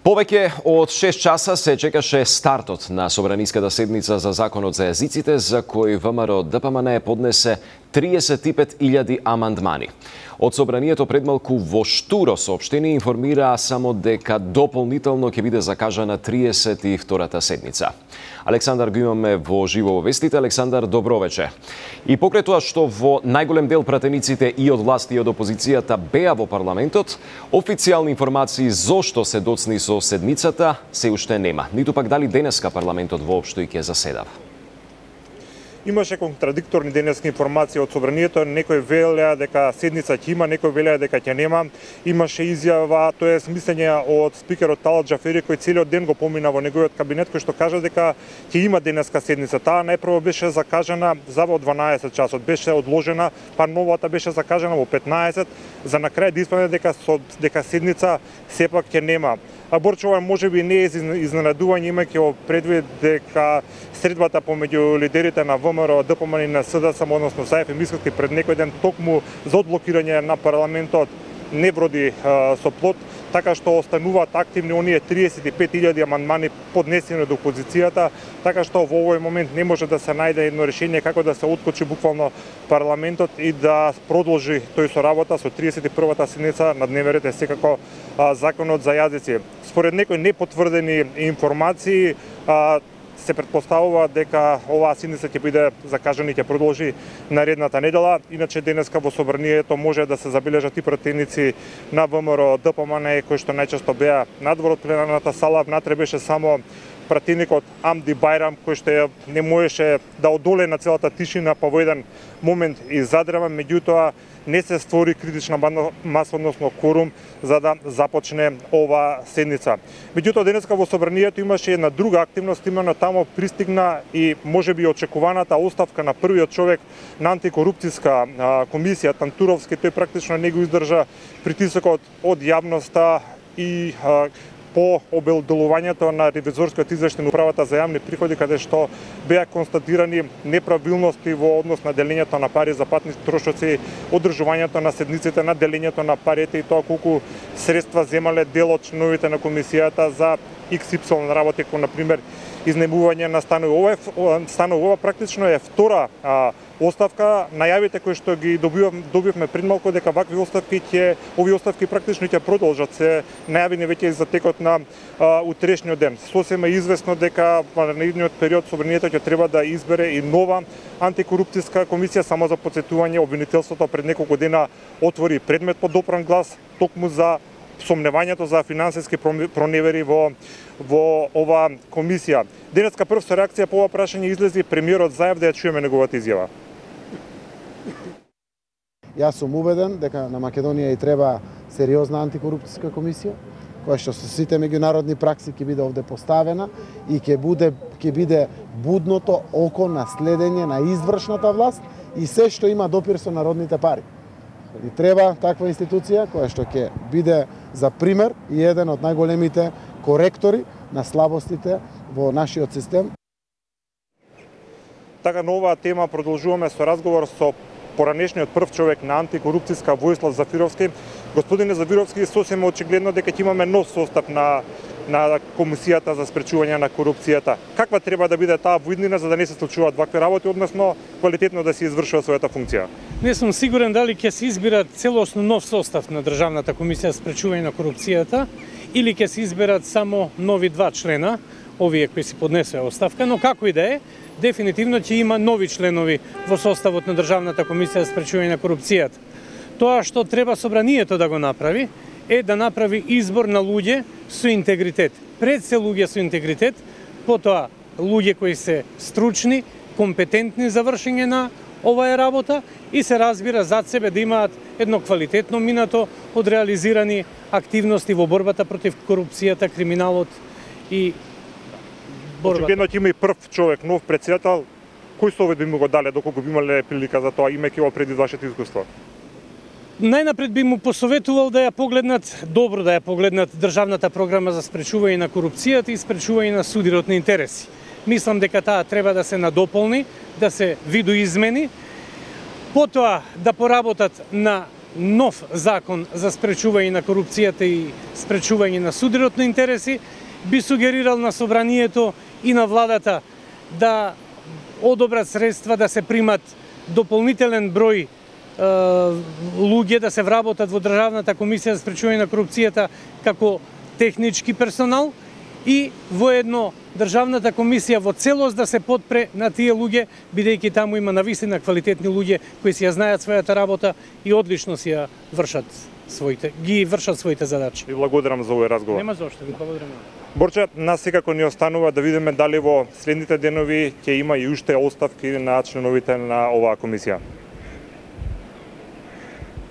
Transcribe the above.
Повеќе од 6 часа се чекаше стартот на собраниската седница за законот за јазиците, за кој ВМРО ДПМН поднесе 35.000 амандмани. Од собранието предмалку во штуро соопштение информираа само дека дополнително ќе биде закажана 32-та седница. Александар го имаме во живо во вестите. Александар, добро вече. И покрај тоа што во најголем дел пратениците и од власти и од опозицијата беа во парламентот, официјални информации зошто се доцни со седницата се уште нема. Ниту пак дали денеска парламентот воопшто и ќе заседава. Имаше контрадикторни денески информации од собранието, некој велеа дека седница ќе има, некој велеа дека ќе нема. Имаше изјава, тоа е мислење од спикерот Талат Џафери, кој целиот ден го помина во неговиот кабинет, кој што кажа дека ќе има денеска седница. Таа најпрво беше закажана за во 12 часот, беше одложена, па новата беше закажана во 15, за на крај да испадне дека седница сепак ќе нема. А Борчова можеби не е изненадување, имајќи во предвид дека средбата помеѓу лидерите на ВМРО, ДПМН и на СДСМ, односно Саев и Мицкоски пред некој ден токму за одблокирање на парламентот не вроди со плод, така што остануваат активни оние 35.000 амандмани поднесени од опозицијата, така што во овој момент не може да се најде едно решение како да се откочи буквално парламентот и да продолжи тој со работа со 31-та седница на дневен ред е секако законот за јазици. Според некои непотврдени информации се претпоставува дека оваа седница ќе биде закажана и ќе продолжи наредната недела. Иначе денеска во собранието може да се забележат и пратеници на ВМРО, ДПМН, кои што најчесто беа надвор од пленарната сала. Внатре беше само пратеникот Амди Бајрам, кој што не можеше да одолее на целата тишина, па во еден момент и задрева, меѓутоа не се створи критична маса, односно кворум, за да започне ова седница. Меѓутоа, денеска во собранието имаше една друга активност, именно тамо пристигна и можеби очекуваната оставка на првиот човек на антикорупцијска комисија, Тантуровски. Тој практично не го издржа притисокот од јавноста и по обелделувањето на ревизорскиот извештај на управата за јавни приходи, каде што беа констатирани неправилности во однос на делењето на пари за патни трошоци, одржувањето на седниците, на делењето на парите и тоа колку средства земале дел од членовите на комисијата за XY работи, како например изнемување на станови. Ова практично е втора оставка. Најавите кои што ги добивме пред малку дека вакви овие оставки практично ќе продолжат, се најавени веќе за текот на утрешниот ден. Сосема известно дека во наредниот период собранието ќе треба да избере и нова антикорупцијска комисија. Само за потсетување, обвинителството пред неколку дена отвори предмет по допран глас токму за сомневањето за финансиски проневери во ова комисија. Денеска прв со реакција по ова прашање излезе премиерот Заев, да ја чуеме неговата изјава. Јас сум убеден дека на Македонија и треба сериозна антикорупцијска комисија, која што со сите меѓународни пракси ќе биде овде поставена и ќе биде будното око на следење на извршната власт и се што има допир со народните пари. И треба таква институција која што ќе биде за пример и еден од најголемите коректори на слабостите во нашиот систем. Така, на оваа тема продолжуваме со разговор со поранешниот прв човек на антикорупцијска Војслав Зафировски. Господине Зафировски, сосема очигледно дека ќе имаме нов состав на комисијата за спречување на корупцијата. Каква треба да биде таа воиднина за да не се случуваат вакви работи, односно квалитетно да се извршува својата функција? Не сум сигурен дали ќе се избират целосно нов состав на Државната комисија за спречување на корупцијата или ќе се изберат само нови 2 члена, овие кои си поднесоа оставка, но како и да е, дефинитивно ќе има нови членови во составот на Државната комисија за спречување на корупцијата. Тоа што треба собранието да го направи е да направи избор на луѓе со интегритет. Пред се луѓе со интегритет, потоа луѓе кои се стручни, компетентни за вршење на оваа работа и се разбира зад себе да имаат едно квалитетно минато од реализирани активности во борбата против корупцијата, криминалот и борбата. Очигледно ќе има и прв човек, нов претседател. Кој совет би му го дале доколку би имале прилика за тоа, имајќи во преди вашето искуство? Најнапред би му посоветувал да ја погледнат, добро да ја погледнат Државната програма за спречување на корупцијата и спречување на судирот на интереси. Мислам дека таа треба да се надополни, да се видоизмени, потоа да поработат на нов закон за спречување на корупцијата и спречување на судрот на интереси, би сугерирал на собранието и на владата да одобрат средства да се примат дополнителен број луѓе да се вработат во Државната комисија за спречување на корупцијата како технички персонал и воедно Државната комисија во целост да се подпре на тие луѓе, бидејќи таму има навистина квалитетни луѓе кои си ја знаат својата работа и одлично си ја вршат своите задачи. Ви благодарам за овој разговор. Нема зошто, ви благодарам. Борче, нас секако ни останува да видиме дали во следните денови ќе има и уште оставки на членовите на оваа комисија.